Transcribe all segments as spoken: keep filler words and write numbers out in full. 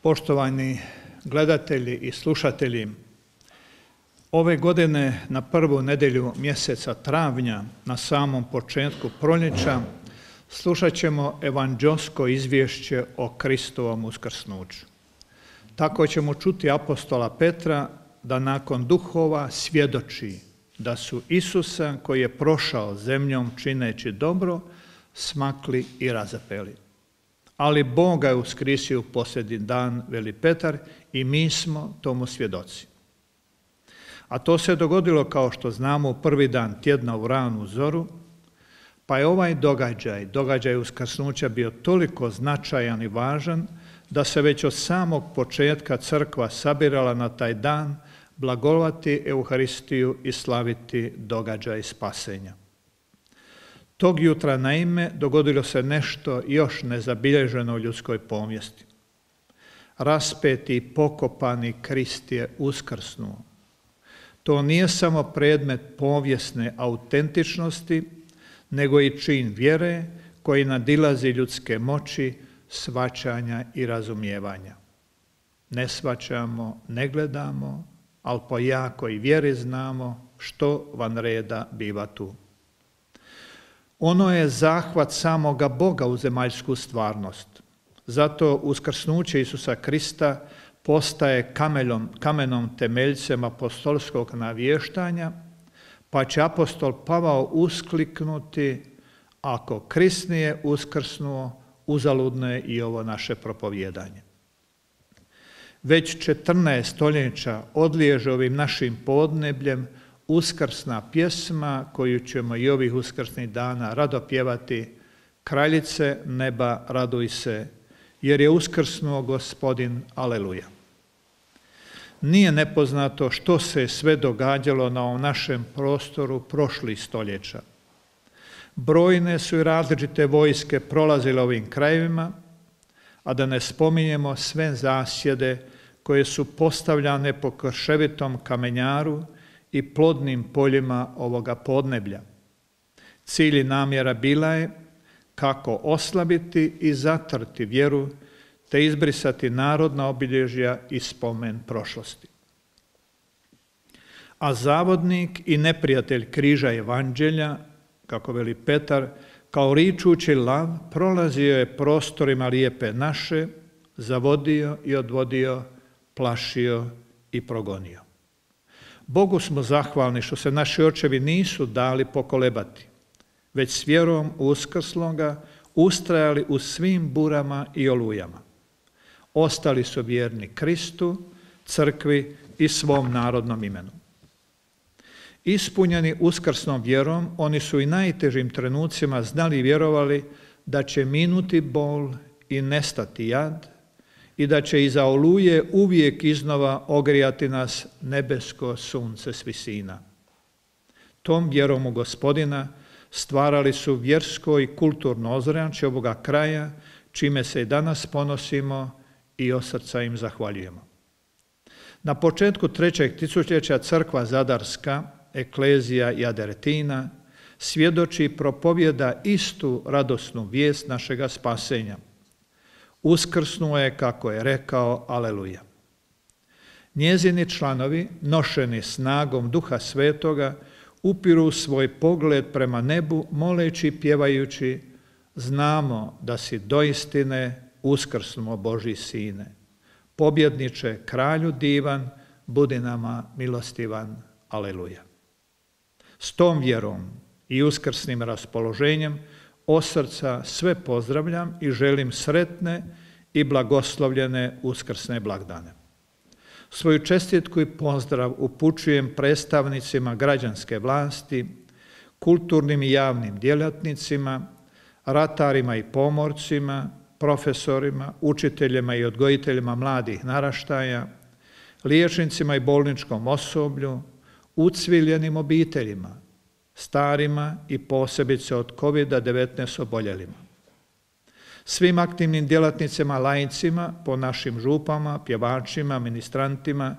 Poštovani gledatelji i slušatelji, ove godine na prvu nedjelju mjeseca travnja, na samom početku proljeća, slušat ćemo evanđeosko izvješće o Kristovom uskrsnuću. Tako ćemo čuti apostola Petra da nakon duhova svjedoči da su Isusa, koji je prošao zemljom čineći dobro, smakli i razapeli. Ali Bog ga je uskrisio u posljednji dan, veli Petar, i mi smo tomu svjedoci. A to se dogodilo, kao što znamo, u prvi dan tjedna u ranu zoru, pa je ovaj događaj, događaj uskrsnuća bio toliko značajan i važan da se već od samog početka crkva sabirala na taj dan blagovati Euharistiju i slaviti događaj spasenja. Tog jutra, naime, dogodilo se nešto još nezabilježeno u ljudskoj povijesti. Raspeti i pokopani Krist je uskrsnuo. To nije samo predmet povijesne autentičnosti, nego i čin vjere koji nadilazi ljudske moći, shvaćanja i razumijevanja. Ne shvaćamo, ne gledamo, ali po jakoj vjeri znamo što van reda biva tu. Ono je zahvat samoga Boga u zemaljsku stvarnost. Zato uskrsnuće Isusa Krista postaje kamenom, kamenom temeljcem apostolskog navještanja, pa će apostol Pavao uskliknuti: ako Krist nije uskrsnuo, uzaludno je i ovo naše propovjedanje. Već četrnaest stoljeća odliježe ovim našim podnebljem uskrsna pjesma koju ćemo i ovih uskrsnih dana rado pjevati: Kraljice neba, raduj se, jer je uskrsnuo Gospodin, aleluja. Nije nepoznato što se sve događalo na ovom našem prostoru prošlih stoljeća. Brojne su i različite vojske prolazile ovim krajevima, a da ne spominjemo sve zasjede koje su postavljane po krševitom kamenjaru i plodnim poljima ovoga podneblja. Cilj i namjera bila je kako oslabiti i zatrti vjeru, te izbrisati narodna obilježja i spomen prošlosti. A zavodnik i neprijatelj križa evanđelja, kako veli Petar, kao ričući lav, prolazio je prostorima lijepe naše, zavodio i odvodio, plašio i progonio. Bogu smo zahvalni što se naši očevi nisu dali pokolebati, već s vjerom uskrsloga ustrajali u svim burama i olujama. Ostali su vjerni Kristu, crkvi i svom narodnom imenu. Ispunjeni uskrsnom vjerom, oni su i najtežim trenucima znali i vjerovali da će minuti bol i nestati jad i da će iza oluje uvijek iznova ogrijati nas nebesko sunce s visina. Tom vjerom u Gospodina stvarali su vjersko i kulturno ozračje ovoga kraja, čime se i danas ponosimo i od srca im zahvaljujemo. Na početku trećeg tisućljeća crkva Zadarska, Eklezija Jaderetina, svjedoči i propovjeda istu radosnu vijest našega spasenja. Uskrsnuo je, kako je rekao, aleluja. Njezini članovi, nošeni snagom Duha Svetoga, upiru svoj pogled prema nebu, moleći i pjevajući: znamo da si doistine uskrsnuo, Božji sine. Pobjedniče, kralju divan, budi nama milostivan, aleluja. S tom vjerom i uskrsnim raspoloženjem od srca sve pozdravljam i želim sretne i blagoslovljene uskrsne blagdane. Svoju čestitku i pozdrav upućujem predstavnicima građanske vlasti, kulturnim i javnim djelatnicima, ratarima i pomorcima, profesorima, učiteljima i odgojiteljima mladih naraštaja, liječnicima i bolničkom osoblju, ucviljenim obiteljima, starima i posebice od kovid devetnaest oboljelima. Svim aktivnim djelatnicima, laicima, po našim župama, pjevačima, ministrantima,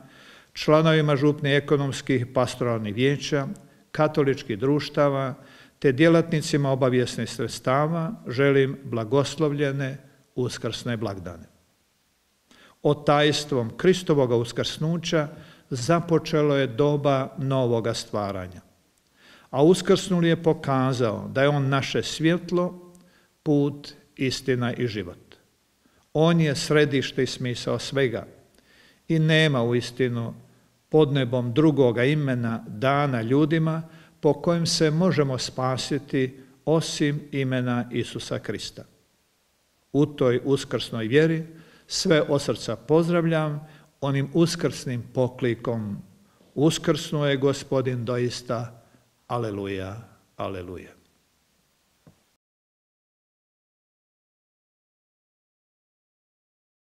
članovima župnih ekonomskih i pastoralnih vijeća, katoličkih društava, te djelatnicima obavijesnih sredstava želim blagoslovljene uskrsne blagdane. Otajstvom Kristovoga uskrsnuća započelo je doba novoga stvaranja. A uskrsnuli je pokazao da je on naše svjetlo, put, istina i život. On je središte i smisao svega i nema uistinu pod nebom drugoga imena dana ljudima po kojem se možemo spasiti osim imena Isusa Krista. U toj uskrsnoj vjeri sve od srca pozdravljam onim uskrsnim poklikom: uskrsnuo je Gospodin doista, aleluja, aleluja.